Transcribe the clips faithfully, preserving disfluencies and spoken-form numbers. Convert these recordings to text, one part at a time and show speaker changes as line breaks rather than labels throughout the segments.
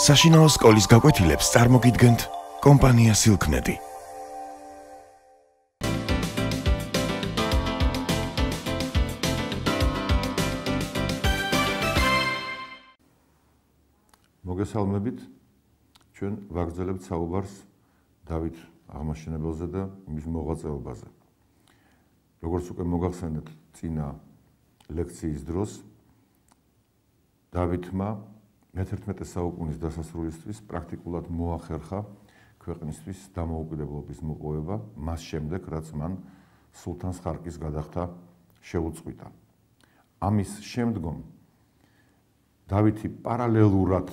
საშინაო სკოლის გაკვეთილებს წარმოგიდგენთ კომპანია Silknet.
მოგესალმებით, ჩვენ ვაგრძელებთ საუბარს დავით აღმაშენებელზე და მის მოღვაწეობაზე. როგორც უკვე მოგახსენეთ წინა ლექციის დროს, დავითმა მეთერთმეტე საუკუნის დასასრულისთვის პრაქტიკულად მოახერხა ქვეყნისთვის დამოუკიდებლობის მოპოვება, მას შემდეგ, რაც მან სულთანს ხარკის გადახდა შეუწყვიტა. ამის შემდგომ დავითი პარალელურად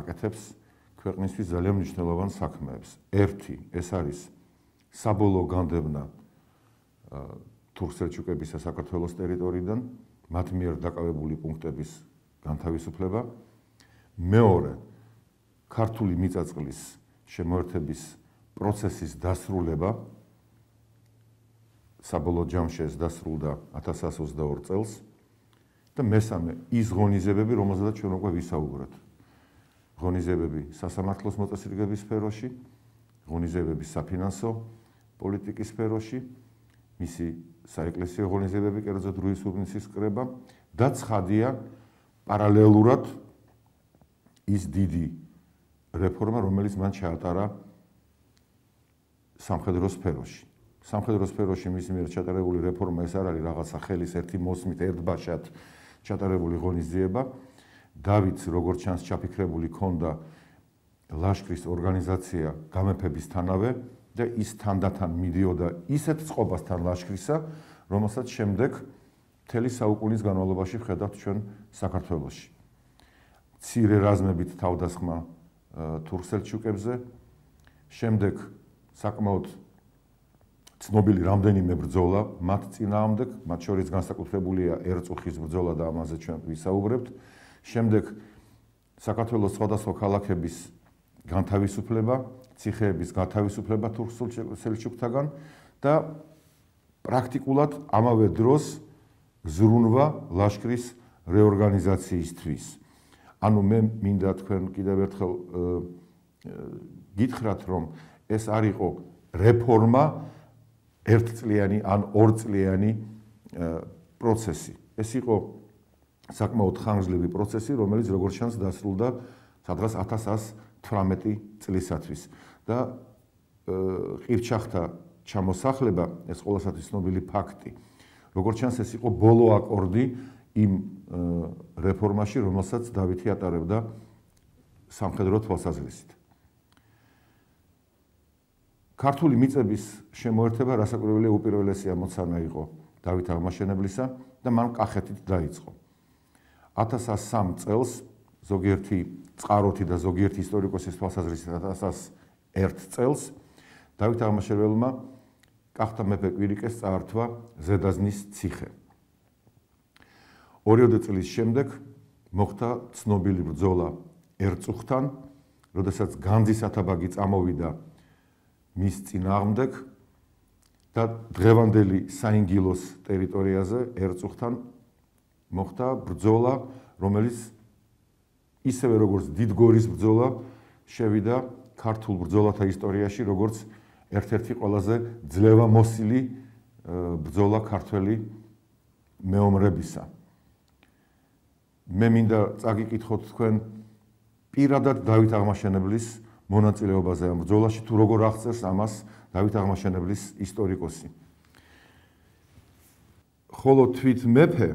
აკეთებს ქვეყნისთვის ძალიან მნიშვნელოვან საქმეებს. ერთი, ეს არის საბოლოო განდევნა თურქ-სელჩუკებისა საქართველოს ტერიტორიიდან, მათ მიერ დაკავებული პუნქტების განთავისუფლება. მეორე, ქართული მიწა-წყლის შემოერთების პროცესის დასრულება. საბოლოო ჯამში ეს დასრულდა ათას ცხრაასი ოცდაორი წელს. და მესამე, ის ღონისძიებები, რომელზედაც ჩვენ უკვე ვისაუბრეთ. ღონისძიებები სასამართლოს მოწესრიგების სფეროში, ღონისძიებები საფინანსო პოლიტიკის სფეროში, მისი საეკლესიო ღონისძიებები, კერძოდ რუის უბნისის კრება და ცხადია პარალელურად ის დიდი რეფორმა, რომელიც მან ჩაატარა სამხედრო სფეროში. სამხედრო სფეროში მისი მიერ ჩატარებული რეფორმა ეს არ არის რაღაცა ხელის ერთი მოსმით ერთბაშად ჩატარებული ღონისძიება. დავითს, როგორც ჩანს, ჩაფიქრებული ჰქონდა ლაშქრის ორგანიზაცია გამეფებისთანავე და ის თანდათან მიდიოდა ისეთ წყობასთან ლაშქრისა, რომელსაც შემდეგ მთელი საუკუნის განმავლობაში ვხედავთ ჩვენ საქართველოში. მცირე რაზმებით თავდასხმა თურქ-სელჩუკებზე, შემდეგ საკმაოდ ცნობილი რამდენიმე ბრძოლა მათ წინააღმდეგ, მათ შორის განსაკუთრებულია ერწუხის ბრძოლა და ამაზე ჩვენ ვისაუბრებთ. შემდეგ საქართველოს სხვადასხვა ქალაქების განთავისუფლება, ციხეების განთავისუფლება თურქ-სელჩუკთაგან და პრაქტიკულად ამავე დროს ზრუნვა ლაშქრის რეორგანიზაციისთვის. ანუ მე მინდა თქვენ კიდევ ერთხელ გითხრათ, რომ ეს არ იყო რეფორმა, ერთწლიანი ან ორწლიანი პროცესი. ეს იყო საკმაოდ ხანგრძლივი პროცესი, რომელიც როგორც ჩანს დასრულდა სადღაც ათას ცხრაასი თვრამეტი წლისათვის. და ყივჩახთა ჩამოსახლება, ეს ყველასათვის ცნობილი ფაქტი. როგორც ჩანს, ეს იყო ბოლო აკორდი იმ რეფორმაში, რომელსაც დავითი ატარებდა სამხედრო თვალსაზრისით. ქართული მიწების შემოერთება რასაკვირველია უპირველესი ამოცანა იყო დავით აღმაშენებლისა და მან კახეთით დაიწყო. ათას ცხრაასი სამი წელს ზოგიერთი წყაროთი და ზოგიერთი ისტორიკოსის თვალსაზრისით ათას ცხრაასი ერთი წელს დავით აღმაშენებელმა კახთა მეფე კვირიკეს წაართვა ზედაზნის ციხე. ორიოდე წლის შემდეგ მოხდა ცნობილი ბრძოლა ერწუხთან, როდესაც განძის ათაბაგი წამოვიდა მის წინააღმდეგ და დღევანდელი საინგილოს ტერიტორიაზე ერწუხთან მოხდა ბრძოლა, რომელიც ისევე როგორც დიდგორის ბრძოლა შევიდა ქართულ ბრძოლათა ისტორიაში, როგორც ერთ-ერთი ყველაზე ძლევამოსილი ბრძოლა ქართველი მეომრებისა. მე მინდა წაგიკითხოთ თქვენ პირადად დავით აღმაშენებლის მონაწილეობაზე ამ ბრძოლაში, თუ როგორ აღწერს ამას დავით აღმაშენებლის ისტორიკოსი. ხოლო თვით მეფე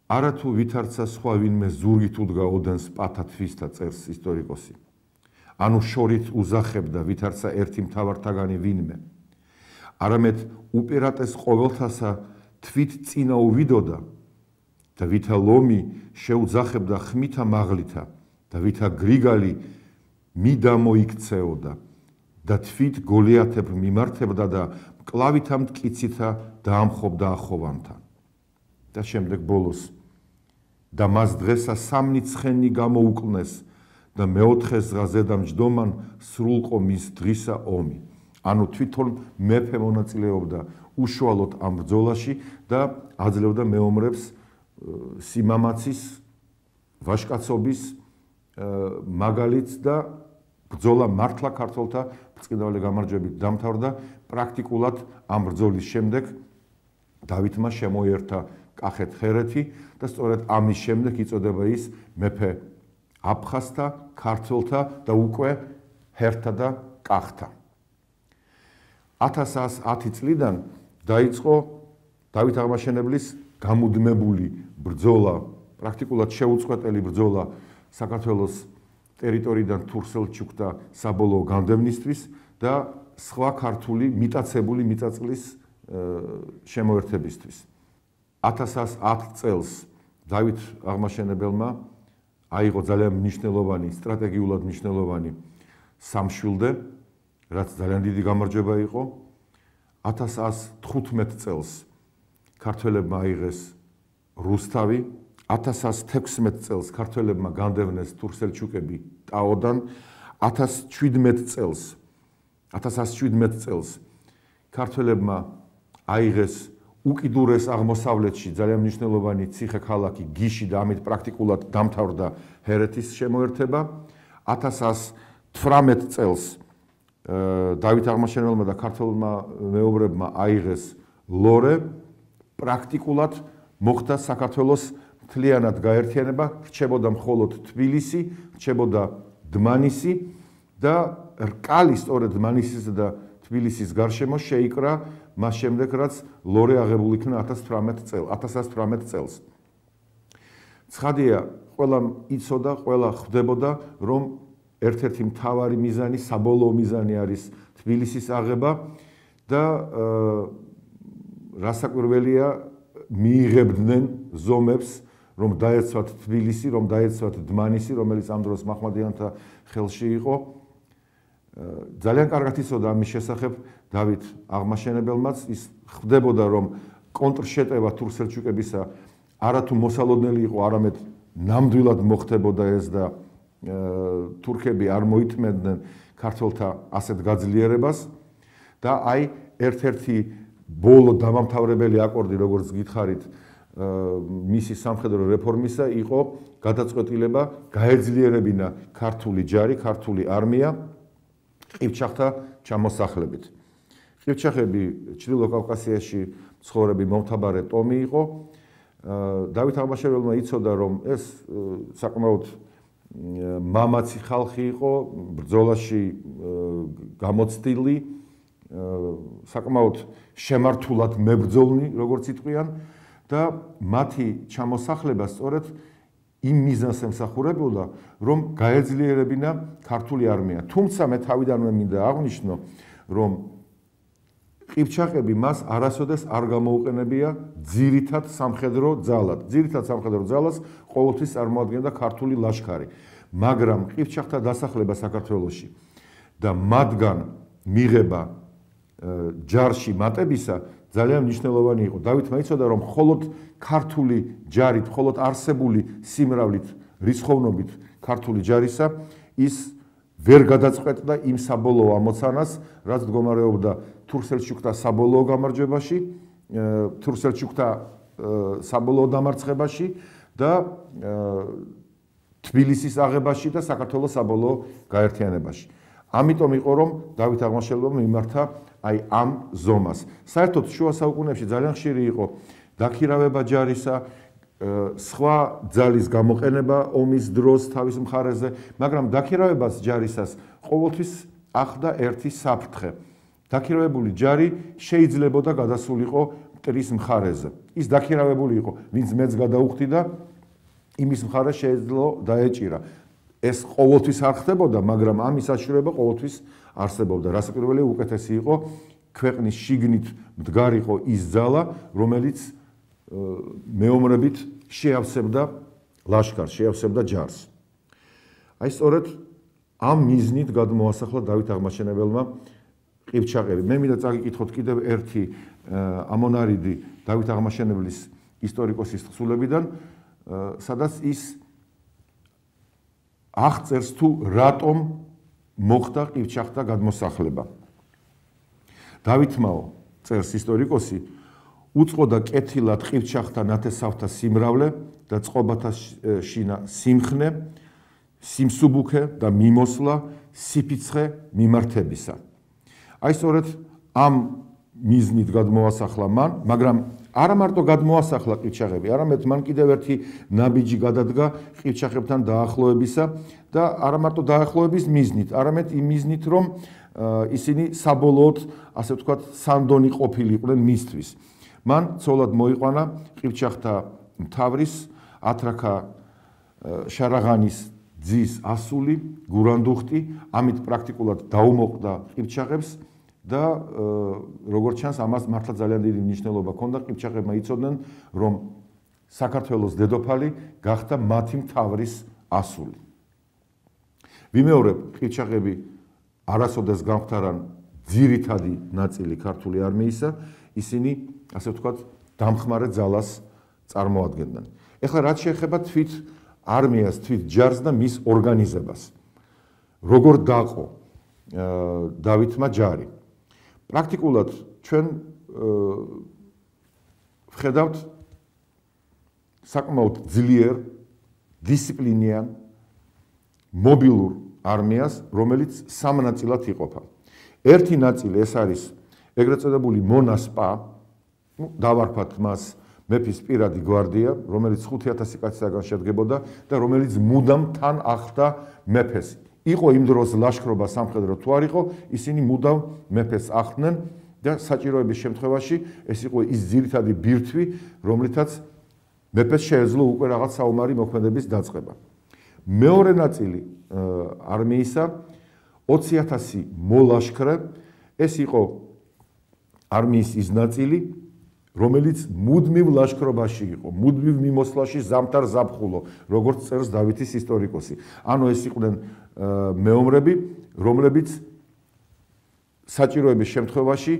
არათუ ვითარცა სხვა ვინმე ზურგით უდგა ოდენს პათა თვისთა წერს ისტორიკოსი. ანუ შორით უზახებდა ვითარცა ერთი მთავართაგანი ვინმე. არამედ უპირატეს ყოველთასა თვით წინა უვიდოდა და ვითა ლომი შეუძახებდა ხმითა მაღლითა და ვითა გრიგალი მიდამოიქცეოდა და თვით გოლიათებრ მიმართებდა და მკლავითა მტკიცითა დაამხობდა ახოვანთა. და შემდეგ ბოლოს და მას დღესა სამნი ცხენი გამოუკლნეს და მეოთხე ზღაზე და მჯდომან სრულყო მის დღისა ომი. ანუ თვითონ მეფე მონაწილეობდა უშუალოდ ამ ბრძოლაში და აძლევდა მეომრებს სიმამაცის, ვაჟკაცობის მაგალითს და ბრძოლა მართლა ქართველთა ბრწყინვალე გამარჯვებით დამთავრდა. პრაქტიკულად ამ ბრძოლის შემდეგ დავითმა შემოიერთა კახეთ-ხერეთი და სწორედ ამის შემდეგ იწოდება ის მეფე აფხაზთა, ქართველთა და უკვე ჰერთა და კახთა. ათას ათს ათი წლიდან დაიწყო დავით აღმაშენებლის გამუდმებული ბრძოლა, პრაქტიკულად შეუწყვეტელი ბრძოლა საქართველოს ტერიტორიიდან თურქ-სელჩუკთა საბოლოო განდევნისთვის და სხვა ქართული მიტაცებული მიწაწლის შემოერთებისთვის. ათას ათს ათ წელს დავით აღმაშენებელმა აიღო ძალიან მნიშვნელოვანი, სტრატეგიულად მნიშვნელოვანი სამშვილდე, რაც ძალიან დიდი გამარჯვება იყო. ათას ათს თხუთმეტ წელს ქართველებმა აიღეს რუსთავი, ათას ათს თექვსმეტ წელს ქართველებმა განდევნეს თურქ-სელჩუკები ტაოდან, ათას შვიდმეტ წელს ათას ათს შვიდმეტ წელს ქართველებმა აიღეს უკიდურეს აღმოსავლეთში ძალიან მნიშვნელოვანი ციხე-ქალაქი გიში და ამით პრაქტიკულად დამთავრდა ჰერეთის შემოერთება. ათას ათს თვრამეტ წელს დავით აღმაშენებელმა და ქართველმა მეომრებმა აიღეს ლორე, პრაქტიკულად მოხდა საქართველოს მთლიანად გაერთიანება, რჩებოდა მხოლოდ თბილისი, რჩებოდა დმანისი და რკალი სწორედ დმანისისა და თბილისის გარშემო შეიკრა მას შემდეგ, რაც ლორე აღებული იქნა ათას ათს თვრამეტ წელს. ცხადია, ყველამ იცოდა, ყველა ხვდებოდა, რომ ერთ-ერთი მთავარი მიზანი, საბოლოო მიზანი არის თბილისის აღება და რასაკვირველია, მიიღებდნენ ზომებს, რომ დაეცვათ თბილისი, რომ დაეცვათ დმანისი, რომელიც ამ დროს მაჰმადიანთა ხელში იყო. ძალიან კარგად იცოდა ამის შესახებ დავით აღმაშენებელმაც, ის ხვდებოდა, რომ კონტრშეტევა თურქ-სელჩუკებისა არათუ მოსალოდნელი იყო, არამედ ნამდვილად მოხდებოდა ეს და თურქები არ მოითმენდნენ ქართველთა ასეთ გაძლიერებას და აი ერთ-ერთი ბოლო დამამთავრებელი აკორდი, როგორც გითხარით, მისი სამხედრო რეფორმისა იყო გადაწყვეტილება გაეძლიერებინა ქართული ჯარი, ქართული არმია ყივჩახთა ჩამოსახლებით. ყივჩახები ჩრდილო კავკასიაში მცხოვრები მომთაბარე ტომი იყო. დავით აღმაშენებელმა იცოდა, რომ ეს საკმაოდ მამაცი ხალხი იყო, ბრძოლაში გამოცდილი, საკმაოდ შემართულად მებრძოლნი, როგორც იტყვიან და მათი ჩამოსახლება სწორედ იმ მიზანს ემსახურებოდა, რომ გაეძლიერებინა ქართული არმია. თუმცა მე თავიდანვე მინდა აღვნიშნო, რომ ყივჩახები მას არასოდეს არ გამოუყენებია ძირითად სამხედრო ძალად. ძირითად სამხედრო ძალას ყოველთვის წარმოადგენდა ქართული ლაშქარი. მაგრამ ყივჩახთა დასახლება საქართველოში და მათგან მიღება ჯარში მატებისა ძალიან მნიშვნელოვანი იყო. დავითმა იცოდა, რომ მხოლოდ ქართული ჯარით, მხოლოდ არსებული სიმრავლით, რისხოვნობით ქართული ჯარისა ის ვერ გადაწყვეტდა იმ საბოლოო ამოცანას, რაც მდგომარეობდა თურქ-სელჩუკთა საბოლოო გამარჯვებაში, თურქ-სელჩუკთა საბოლოო დამარცხებაში და თბილისის აღებაში და საქართველოს საბოლოო გაერთიანებაში. ამიტომ იყო, რომ დავით აღმაშენებელმა მიმართა აი ამ ზომას. საერთოდ შუა საუკუნეებში ძალიან ხშირი იყო დაქირავება ჯარისა, სხვა ძალის გამოყენება ომის დროს თავის მხარეზე, მაგრამ დაქირავებას ჯარისას ყოველთვის ახლდა ერთი საფრთხე. დაქირავებული ჯარი შეიძლებოდა გადასულიყო მტრის მხარეზე. ის დაქირავებული იყო, ვინც მეც გადაუხდიდა, იმის მხარეს შეეძლო დაეჭირა. ეს ყოველთვის არ ხდებოდა, მაგრამ ამის საშუალება ყოველთვის არსებობდა. რასაკვირველია, უკეთესი იყო ქვეყნის შიგნით მდგარიყო ის ძალა, რომელიც მეომრებით შეავსებდა ლაშქარს, შეავსებდა ჯარს. აი სწორედ ამ მიზნით გადმოასახლა დავით აღმაშენებელმა ყივჩახები. მე მინდა წაგიკითხოთ კიდევ ერთი ამონარიდი დავით აღმაშენებლის ისტორიკოსის თხზულებიდან, სადაც ის აღწერს თუ რატომ მოხდა ყივჩახთა გადმოსახლება. დავითმაო, წერს ისტორიკოსი, უწყოდა კეთილად ყივჩახთა ნათესავთა სიმრავლე და წყობათა შინა სიმხნე, სიმსუბუქე და მიმოსვლა სიფიცხე მიმართებისა. აი სწორედ ამ მიზნით გადმოასახლა მან, მაგრამ არა მარტო გადმოასახლა ყივჩაღები, არამედ მან კიდევ ერთი ნაბიჯი გადადგა ყივჩაღებთან დაახლოებისა და არა მარტო დაახლოების მიზნით, არამედ იმ მიზნით, რომ ისინი საბოლოოდ, ასე ვთქვათ, სანდონი ყოფილიყვნენ მისთვის. მან ცოლად მოიყვანა ყივჩაღთა მთავრის ათრაქა შარაღანის ძის ასული გურანდუხტი, ამით პრაქტიკულად დაუმოყდა ყივჩაღებს და როგორც ჩანს, ამას მართლა ძალიან დიდი მნიშვნელობა ჰქონდა. ყივჩაღებმა იცოდნენ, რომ საქართველოს დედოფალი გახდა მათი მთავრის ასული. ვიმეორებ, ყივჩაღები არასოდეს გამختარან ძირითადი ნაწილი ქართული არმიისა, ისინი, ასე ვთქვათ, დამხმარე ძალას წარმოადგენდნენ. ეხლა რაც შეეხება თვით არმიას, თვით ჯარს და მის ორგანიზებას. როგორ დაყო დავითმა ჯარი? პრაქტიკულად ჩვენ ვხედავთ საკმაოდ ძლიერ, დისციპლინიან, მობილურ არმიას, რომელიც სამ ნაწილად იყოფა. ერთი ნაწილი ეს არის ეგრეთ წოდებული მონასპა, დავარქვათ მას მეფის პირადი გვარდია, რომელიც ხუთი ათასი კაცისაგან შედგებოდა და რომელიც მუდამ თან ახლდა მეფეს. იყო იმ დროს ლაშქრობა სამხედრო თუ არ იყო, ისინი მუდამ მეფეს ახლდნენ და საჭიროების შემთხვევაში ეს იყო ის ძირითადი ბირთვი, რომლითაც მეფეს შეეძლო უკვე რაღაც საომარი მოქმედების დაწყება. მეორე ნაწილი არმიისა ოცი ათასი მოლაშქრე, ეს იყო არმიის ის ნაწილი, რომელიც მუდმივ ლაშქრობაში იყო, მუდმივ მიმოსვლაში ზამთარ ზაფხულო, როგორც წერს დავითის ისტორიკოსი. ანუ ეს იყვნენ მეომრები, რომლებიც საჭიროების შემთხვევაში,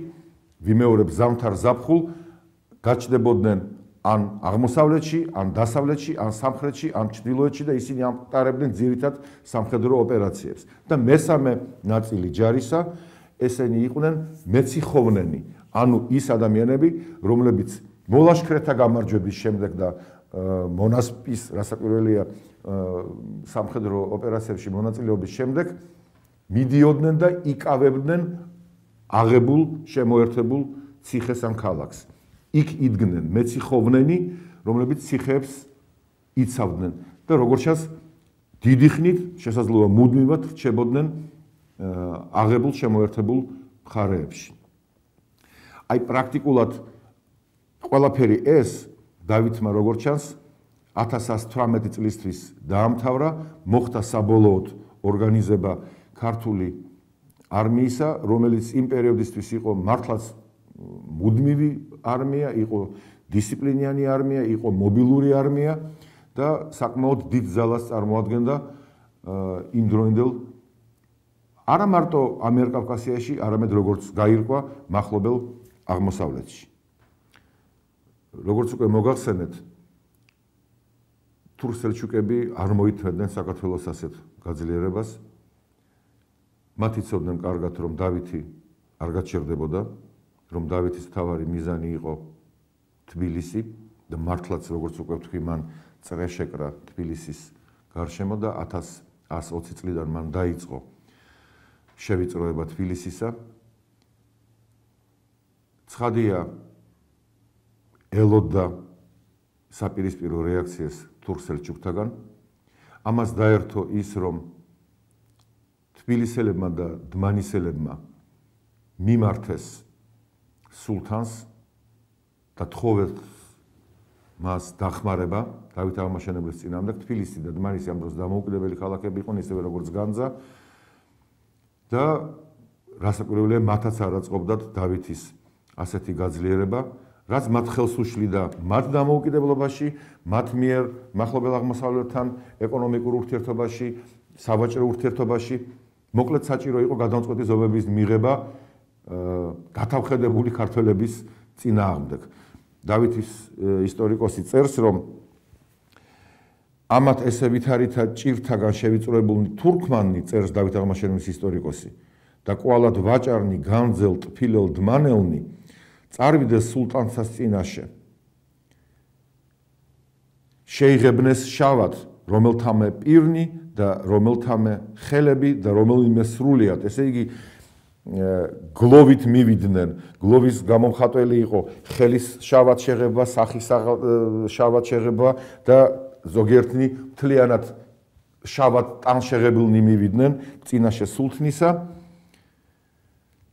ვიმეორებ ზამთარ ზაფხულ, გაჩნდებოდნენ ან აღმოსავლეთში, ან დასავლეთში, ან სამხრეთში, ან ჩრდილოეთში და ისინი ამყარებდნენ ძირითად სამხედრო ოპერაციებს. და მესამე ნაწილი ჯარისა, ესენი იყვნენ მეციხოვნენი, ანუ ის ადამიანები, რომლებიც მოლაშქრეთა გამარჯვების შემდეგ და მონასპის, რასაკვირველია, სამხედრო ოპერაციებში მონაწილეობის შემდეგ მიდიოდნენ და იკავებდნენ აღებულ, შემოერთებულ ციხეს ან ქალაქს. იქ იდგნენ მეციხოვნენი, რომლებიც ციხეებს იცავდნენ და როგორც ჩანს, დიდი ხნით შესაძლოა მუდმივად რჩებოდნენ აღებულ, შემოერთებულ მხარეებში. აი პრაქტიკულად ყველაფერი ეს დავითმა როგორც ჩანს ათას ათას თვრამეტი წლისთვის დაამთავრა, მოხდა საბოლოოდ ორგანიზება ქართული არმიისა, რომელიც იმ პერიოდისთვის იყო მართლაც მუდმივი არმია, იყო დისციპლინიანი არმია, იყო მობილური არმია და საკმაოდ დიდ ძალას წარმოადგენდა იმ დროინდელ არა მარტო ამიერკავკასიაში, არამედ როგორც გაირკვა მახლობელ აღმოსავლეთში. როგორც უკვე მოგახსენეთ, თურქ-სელჩუკები არ მოითმევდნენ საქართველოს ასეთ გაძლიერებას. მათ იცოდნენ კარგად, რომ დავითი არ გაჩერდებოდა, რომ დავითის მთავარი მიზანი იყო თბილისი და მართლაც როგორც უკვე ვთქვი, მან წრე შეკრა თბილისის გარშემო და ათას ათას ოცი წლიდან მან დაიწყო შევიწროება თბილისისა. ცხადია, ელოდა საპირისპირო რეაქციას თურქ-სელჩუკთაგან. ამას დაერთო ის, რომ თბილისელებმა და დმანისელებმა მიმართეს სულთანს და თხოვეს მას დახმარება დავით აღმაშენებლის წინააღმდეგ. თბილისი და დმანისი ამ დროს დამოუკიდებელი ქალაქები იყვნენ, ისევე როგორც განძა და რასაკვირველია, მათაც არ აწყობდათ დავითის ასეთი გაძლიერება, რაც მათ ხელს უშლიდა მათ დამოუკიდებლობაში, მათ მიერ მახლობელ აღმოსავლეთთან ეკონომიკურ ურთიერთობაში, სავაჭრო ურთიერთობაში. მოკლედ საჭირო იყო გადამწყვეტი ზომების მიღება გათავხედებული ქართველების წინააღმდეგ. დავითის ისტორიკოსი წერს, რომ ამათ ესე ვითარითა ჭირთაგან შევიწროებულნი თურქმანი, წერს დავით აღმაშენებლის ისტორიკოსი, და კვალად ვაჭარნი, განძელ, ტფილელ, დმანელნი წარვიდეს სულტანსას წინაშე. შეიღებნეს შავად, რომელთამე პირნი და რომელთამე ხელები და რომელიმე სრულიად, ესე იგი გლოვით მივიდნენ, გლოვის გამომხატველი იყო ხელის შავად შეღება, სახის შავად შეღება და ზოგიერთნი მთლიანად შავად ტანშეღებულნი მივიდნენ წინაშე სულთნისა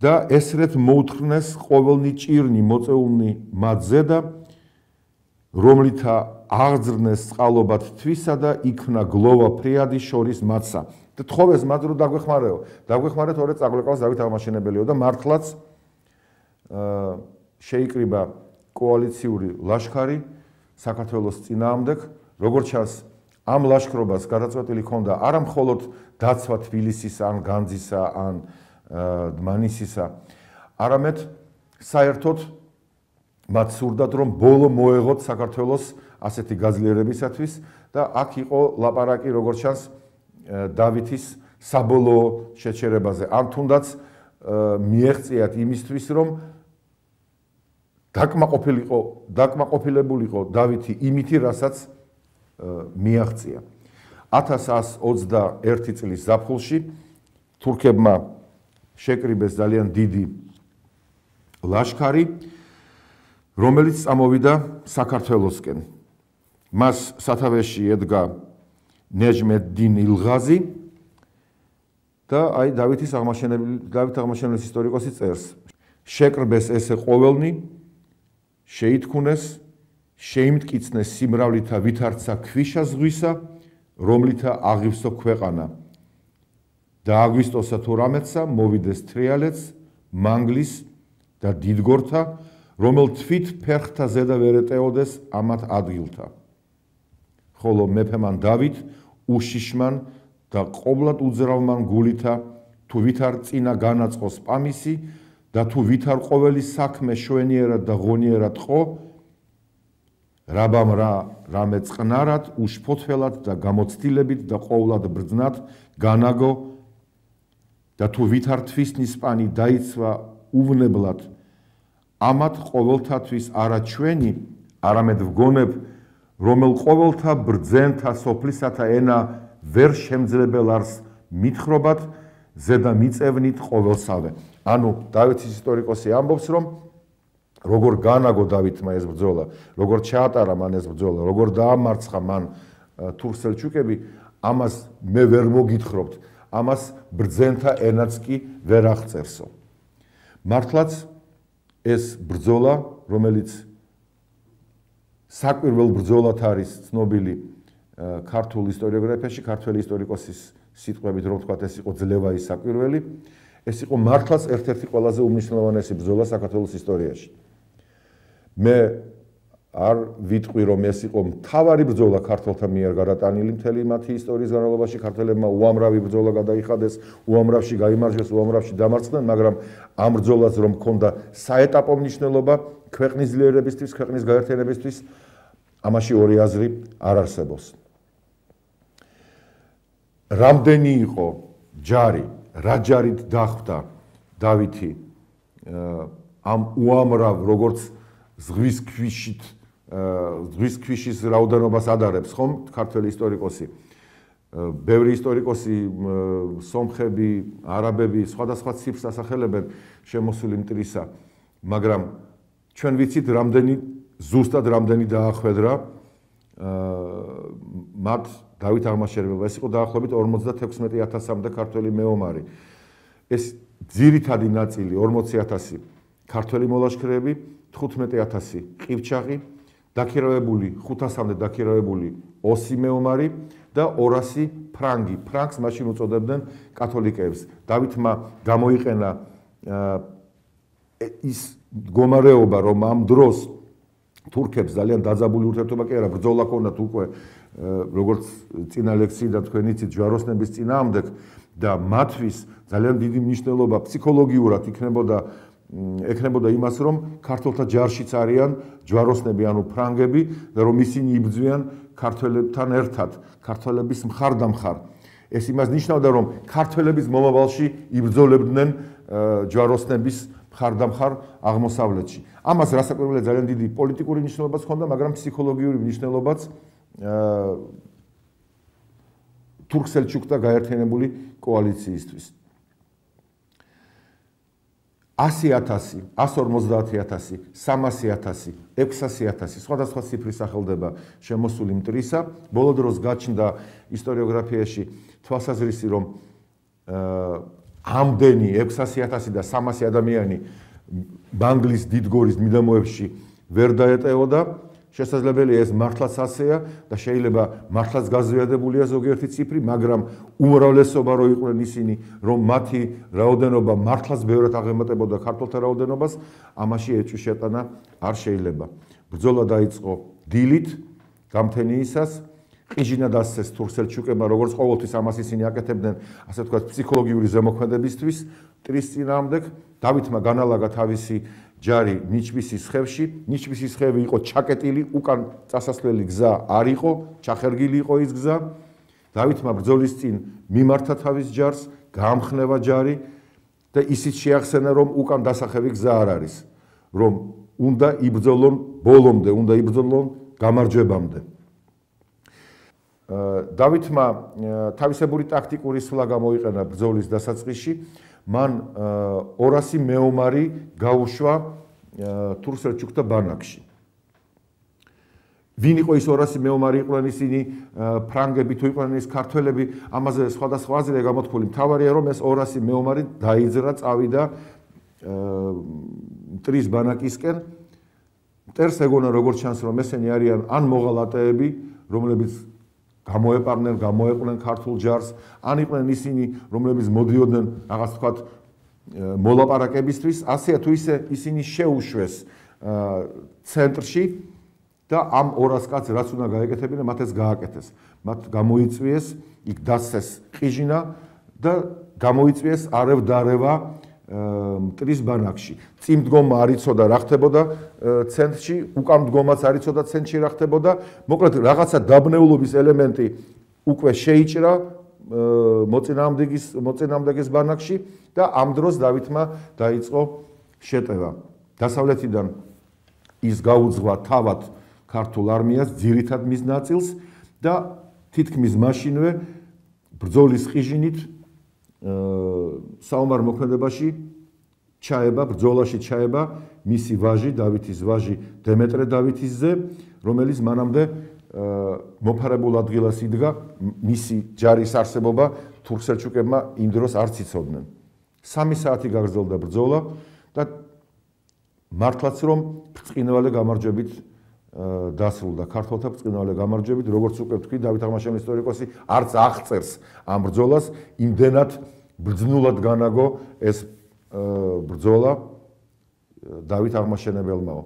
და ესრეთ მოუთხრნეს ყოველნი ჭირნი მოწეულნი მათზე და რომლითა აღძრნეს წყალობად თვისა და იქნა გლოვა ფრიადი შორის მათსა. და თხოვეს მათ რომ დაგვეხმარეო. დაგვეხმარეთ ორე წაგვეკავს დავით აღმაშენებელიო და მართლაც შეიკრიბა კოალიციური ლაშქარი საქართველოს წინააღმდეგ, როგორც ჩანს ამ ლაშქრობას გადაწყვეტილი ჰქონდა არა მხოლოდ დაცვა თბილისის ან განძისა ან დმანისისა, არამედ საერთოდ მათ სურდათ რომ ბოლო მოეღოთ საქართველოს ასეთი გაძლიერებისათვის და აქ იყო ლაპარაკი როგორც ჩანს დავითის საბოლოო შეჩერებაზე. ან თუნდაც მიეღწიათ იმისთვის რომ დაკმაყოფილიყო, დაკმაყოფილებულიყო დავითი იმითი, რასაც მიაღწია. ათას ასი ოცდაერთი წლის ზაფხულში თურქებმა შეკრიბეს ძალიან დიდი ლაშქარი, რომელიც წამოვიდა საქართველოსკენ. მას სათავეში ედგა ნეჯმედდინ ილღაზი და აი დავითის აღმაშენებელი დავით აღმაშენებლის ისტორიკოსი წერს. შეკრბეს ესე ყოველნი, შეითქუნეს, შეიმტკიცნეს სიმრავლითა ვითარცა ქვიშა ზღვისა, რომლითა აღივსო ქვეყანა. და აგვისტოსა თუ რამეცა მოვიდეს თრიალეთს, მანგლის და დიდგორთა, რომელ თვით ფერხთა ზედა ვერ ეტეოდეს ამათ ადგილთა. ხოლო მეფემან დავით უშიშმან და ყობლად უძრავმან გულითა, თუ ვითარ წინა განაწყოს პამისი და თუ ვითარ ყოველი საქმე შვენიერად და ღონიერად ყო, რაბამ რა რამე წყნარად, უშფოთველად და გამოცდილებით და ყოვლად ბრძნად განაგო და თუ ვითარ თვისნის პანი დაიცვა უვნებლად, ამათ ყოველთათვის არა ჩვენი, არამედ ვგონებ, რომელ ყოველთა ბრძენთა სოფლისათა ენა ვერ შემძლებელ არს მითხრობათ, ზედა მიწევნით ყოველსავე. ანუ დავითის ისტორიკოსი ამბობს, რომ როგორ განაგო დავითმა ეს ბრძოლა, როგორ ჩაატარა მან ეს ბრძოლა, როგორ დაამარცხა მან თურქ-სელჩუკები, ამას მე ვერ მოგითხრობთ, ამას ბრძენთა ენაც კი ვერ აღწერსო. მართლაც ეს ბრძოლა, რომელიც საკვირველ ბრძოლად არის ცნობილი ქართულ ისტორიოგრაფიაში, ქართველი ისტორიკოსის სიტყვებით რომ ვთქვათ, ეს იყო ძლევაის საკვირველი, ეს იყო მართლაც ერთ-ერთი ყველაზე უმნიშვნელოვანესი ბრძოლა საქართველოს ისტორიაში. მე არ ვიტყვი რომ ეს იყო მთავარი ბრძოლა ქართველთა მიერ გადატანილი მთელი მათი ისტორიის განმავლობაში, ქართველებმა უამრავი ბრძოლა გადაიხადეს, უამრავში გაიმარჯვეს, უამრავში დამარცხდნენ, მაგრამ ამ ბრძოლას რომ ჰქონდა საეტაპო მნიშვნელობა ქვეყნის ძლიერებისთვის, ქვეყნის გაერთიანებისთვის, ამაში ორი აზრი არ არსებობს. რამდენი იყო ჯარი, რა ჯარით დახვდა დავითი ამ უამრავ როგორც ზღვის ქვიშით ზღვის ქვიშის რაოდენობას ადარებს ხომ ქართველი ისტორიკოსი. ბევრი ისტორიკოსი, სომხები, არაბები სხვადასხვა ციფრს ასახელებენ შემოსული მტრისა, მაგრამ ჩვენ ვიცით რამდენი ზუსტად რამდენი დაახვედრა მათ დავით აღმაშენებელმა. ეს იყო დაახლოებით ორმოცდათექვსმეტი ათასამდე ქართველი მეომარი. ეს ძირითადი ნაწილი ორმოცი ათასი ქართველი მოლაშქრეები, თხუთმეტი ათასი ყივჩაღი, დაქირავებული ხუთასამდე დაქირავებული ოსი მეომარი და ორასი ფრანგი. ფრანგს მაშინ უწოდებდნენ კათოლიკეებს. დავითმა გამოიყენა ის მდგომარეობა, რომ ამ დროს თურქებს ძალიან დაძაბული ურთიერთობა კი არა, ბრძოლა ჰქონდათ უკვე როგორც წინა ლექციიდან თქვენ იცით ჯვაროსნების წინააღმდეგ და მათთვის ძალიან დიდი მნიშვნელობა ფსიქოლოგიურად იქნებოდა ექნებოდა იმას, რომ ქართველთა ჯარშიც არიან ჯვაროსნები, ანუ ფრანგები და რომ ისინი იბრძვიან ქართველებთან ერთად, ქართველების მხარდამხარ. ეს იმას ნიშნავდა, რომ ქართველების მომავალში იბრძოლებდნენ ჯვაროსნების მხარდამხარ აღმოსავლეთში. ამას რასაკვირველია ძალიან დიდი პოლიტიკური მნიშვნელობაც ჰქონდა, მაგრამ ფსიქოლოგიური მნიშვნელობაც თურქ-სელჩუკთა გაერთიანებული კოალიციისთვის. ასი ათასი, ასი ორმოცდაათი ათასი, სამასი ათასი, ექვსასი ათასი, სხვადასხვა ციფრი სახელდება შემოსული მტრისა. ბოლო დროს გაჩნდა ისტორიოგრაფიაში თვალსაზრისი, რომ ამდენი ექვსასი ათასი და სამასი ადამიანი ბანგლის დიდგორის მიდამოებში ვერ დაეტევოდა. შესაძლებელია ეს მართლაც ასეა და შეიძლება მართლაც გაზვიადებულია ზოგიერთი ციფრი, მაგრამ უმრავლესობა რო იყვნენ ისინი, რომ მათი რაოდენობა მართლაც ბევრად აღემატებოდა ქართველთა რაოდენობას, ამაში ეჭვი შეტანა არ შეიძლება. ბრძოლა დაიწყო დილით, გამთენიისას, ყიჟინა დასცეს თურქ-სელჩუკებმა, როგორც ყოველთვის ამას ისინი აკეთებდნენ, ასე ვთქვათ, ფსიქოლოგიური ზემოქმედებისთვის მტრის წინააღმდეგ. დავითმა განალაგა თავისი ჯარი ნიჩბისის ხევში. ნიჩბისის ხევი იყო ჩაკეტილი, უკან წასასვლელი გზა არ იყო, ჩახერგილი იყო ის გზა. დავითმა ბრძოლის წინ მიმართა თავის ჯარს, გაამხნევა ჯარი და ისიც შეახსენა, რომ უკან დასახევი გზა არ არის, რომ უნდა იბრძოლონ ბოლომდე, უნდა იბრძოლონ გამარჯვებამდე. დავითმა თავისებური ტაქტიკური სვლა გამოიყენა ბრძოლის დასაწყისში. მან ორასი მეომარი გაუშვა თურქ-სელჩუკთა ბანაკში. ვინ იყო ის ორასი მეომარი? იყვნენ ისინი ფრანგები თუ იყვნენ ის ქართველები, ამაზე სხვადასხვა აზრია გამოთქმული. მთავარია, რომ ეს ორასი მეომარი დაიძრა, წავიდა მტრის ბანაკისკენ. მტერს ეგონა, როგორც ჩანს, რომ ესენი არიან ან მოღალატეები, რომლებიც გამოეპარნენ, გამოეყვნენ ქართულ ჯარს, ან იყვნენ ისინი, რომლებიც მოდიოდნენ რაღაც თქვათ მოლაპარაკებისთვის, ასეა თუ ისე ისინი შეუშვეს ცენტრში და ამ ორას კაცს რაც უნდა გაეკეთებინა, მათ ეს გააკეთეს. მათ გამოიწვიეს, იქ დასცეს ყიჟინა და გამოიწვიეს არევ-დარევა მტრის ბანაკში. წინ მდგომა არ იცოდა რა ხდებოდა ცენტრში, უკან მდგომაც არ იცოდა ცენტრში რა ხდებოდა. მოკლედ რაღაცა დაბნეულობის ელემენტი უკვე შეიჭრა მოწინააღმდეგის მოწინააღმდეგის ბანაკში და ამ დროს დავითმა დაიწყო შეტევა. დასავლეთიდან ის გაუძღვა თავად ქართულ არმიას, ძირითად მის ნაწილს და თითქმის მაშინვე ბრძოლის ყიჟინით საომარ მოქმედებაში ჩაება, ბრძოლაში ჩაება მისი ვაჟი, დავითის ვაჟი დემეტრე დავითისზე, რომელიც მანამდე მოფარებულ ადგილას იდგა. მისი ჯარის არსებობა თურქ-სელჩუკებმა იმ დროს არც იცოდნენ. სამი საათი გაგრძელდა ბრძოლა და მართლაც რომ ბრწყინვალე გამარჯვებით დასრულდა. ქართველთა ბრწყინვალე გამარჯვებით, როგორც უკვე ვთქვი, დავით აღმაშენის ისტორიკოსი არც აღწერს ამ ბრძოლას, იმდენად ბრძნულად განაგო ეს ბრძოლა დავით აღმაშენებელმაო.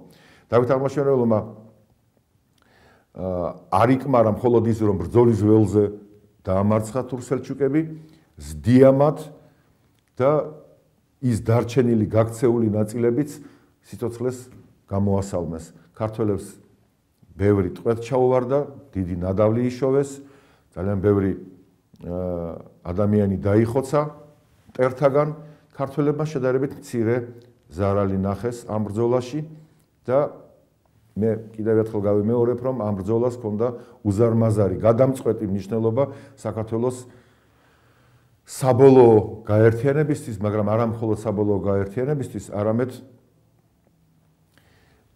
დავით აღმაშენებელმა არ იკმარა მხოლოდ ის, რომ ბრძოლის ველზე დაამარცხა თურქ-სელჩუკები, ზდიამათ და ის დარჩენილი გაქცეული ნაწილებიც სიცოცხლეს გამოასალმეს. ქართველებს ბევრი ტყვეთ ჩაუვარდა, დიდი ნადავლი იშოვეს, ძალიან ბევრი ადამიანი დაიხოცა მტერთაგან. ქართველებმა შედარებით მცირე ზარალი ნახეს ამ ბრძოლაში და მე კიდევ ერთხელ გავიმეორებ, რომ ამ ბრძოლას ჰქონდა უზარმაზარი გადამწყვეტი მნიშვნელობა საქართველოს საბოლოო გაერთიანებისთვის, მაგრამ არა მხოლოდ საბოლოო გაერთიანებისთვის, არამედ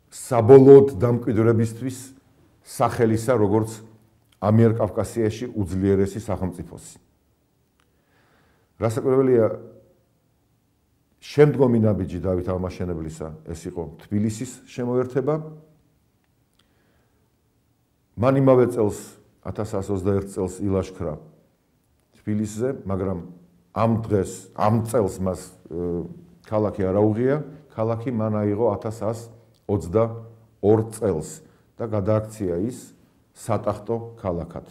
საბოლოოდ დამკვიდრებისთვის სახელისა, როგორც ამიერკავკასიაში უძლიერესი სახელმწიფოსი. რასაკვირველია, შემდგომი ნაბიჯი დავით აღმაშენებლისა ეს იყო თბილისის შემოერთება. მან იმავე წელს ათას ათას ოცდაერთ წელს ილაშქრა თბილისზე, მაგრამ ამ დღეს, ამ წელს მას ქალაქი არ აუღია, ქალაქი მან აიღო ათას ათას ოცდაორ წელს და გადააქცია ის სატახტო ქალაქად.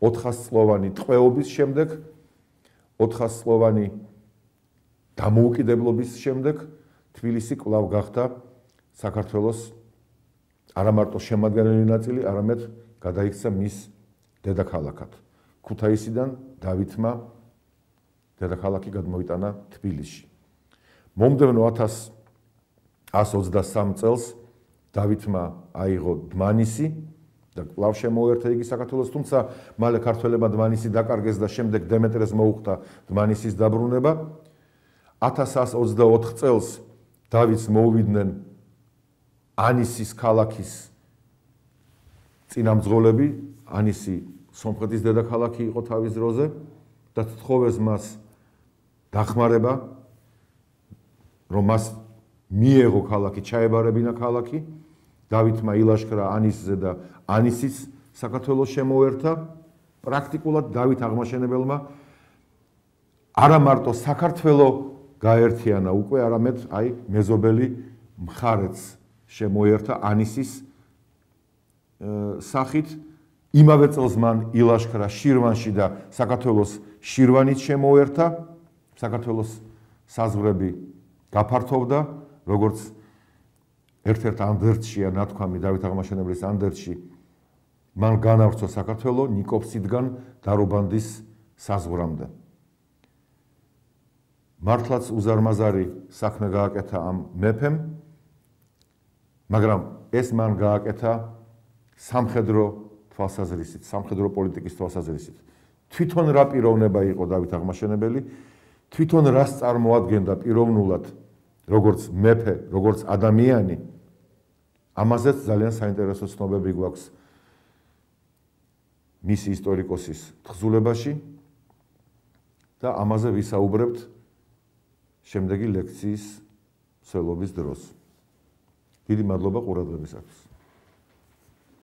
ოთხასწლოვანი ტყვეობის შემდეგ, ოთხასწლოვანი დამოუკიდებლობის შემდეგ თბილისი კვლავ გახდა საქართველოს არა მარტო შემადგენელი ნაწილი, არამედ გადაიქცა მის დედაქალაქად. ქუთაისიდან დავითმა დედაქალაქი გადმოიტანა თბილისში. მომდევნო ათას ათას ოცდასამ წელს დავითმა აიღო დმანისი და კვლავ შემოერთა იგი საქართველოს, თუმცა მალე ქართველებმა დმანისი დაკარგეს და შემდეგ დემეტრეს მოუხდა დმანისის დაბრუნება. ათას ათას ოცდაოთხ წელს დავითს მოუვიდნენ ანისის ქალაქის წინამძღოლები, ანისი სომხეთის დედაქალაქი იყო თავის დროზე და თხოვეს მას დახმარება, რომ მას მიეღო ქალაქი, ჩაებარებინა ქალაქი. დავითმა ილაშქრა ანისზე და ანისის საქართველოს შემოერთა. პრაქტიკულად დავით აღმაშენებელმა არა მარტო საქართველო გაერთიანა უკვე, არამედ აი მეზობელი მხარეც შემოერთა ანისის სახით. იმავე წელს მან ილაშქრა შირვანში და საქართველოს შირვანით შემოერთა. საქართველოს საზღვრები გაფართოვდა, როგორც ერთ-ერთ ანდერძშია ნათქვამი დავით აღმაშენებლის ანდერძში, მან განავრცო საქართველო ნიკოპსიდგან დარობანდის საზღვრამდე. მართლაც უზარმაზარი საქმე გააკეთა ამ მეფემ, მაგრამ ეს მან გააკეთა სამხედრო თვალსაზრისით, სამხედრო პოლიტიკის თვალსაზრისით. თვითონ რა პიროვნება იყო დავით აღმაშენებელი, თვითონ რას წარმოადგენდა პიროვნულად, როგორც მეფე, როგორც ადამიანი, ამაზეც ძალიან საინტერესო ცნობები გვაქვს მისი ისტორიკოსის თხზულებაში და ამაზე ვისაუბრებთ შემდეგი ლექციის მსვლელობის დროს. დიდი მადლობა ყურადღებისათვის.